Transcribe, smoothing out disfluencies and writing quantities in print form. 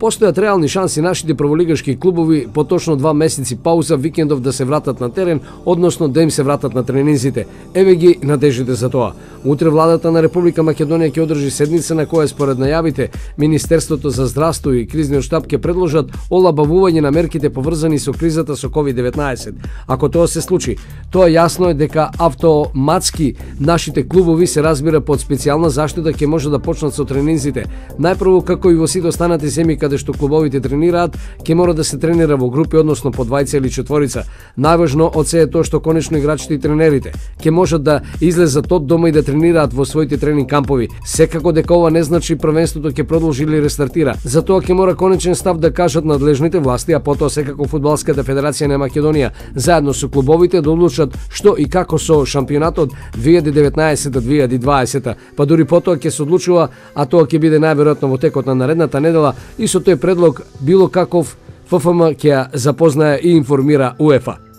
Постојат реални шанси нашите прволигашки клубови по точно 2 месеци пауза викендов да се вратат на терен, односно да им се вратат на тренинзите. Еве ги надеждите за тоа. Утре владата на Република Македонија ќе одржи седница на која според најавите Министерството за здравство и кризниот штаб ќе предложат олабавување на мерките поврзани со кризата со COVID-19. Ако тоа се случи, тоа јасно е дека автоматски нашите клубови се разбира под специјална заштита ќе може да почнат со тренинзите. Најпрво, како и во сите останати земји каде што клубовите тренираат, ќе мора да се тренира во групи, односно по 2 или 4. Најважно од се е тоа што конечно играчите и тренерите ќе можат да излезат од дома и да тренираат во своите тренинг кампови. Секако дека ова не значи првенството ќе продолжи или рестартира. Затоа ќе мора конечен став да кажат надлежните власти, а потоа секако Фудбалската федерација на Македонија заедно со клубовите да одлучат што и како со шампионатот 2019-2020. Па дури потоа ќе се одлучува, а тоа ќе биде најверојатно во текот на наредната недела и со тој предлог било каков ФФМ ќе ја запознае и информира УЕФА.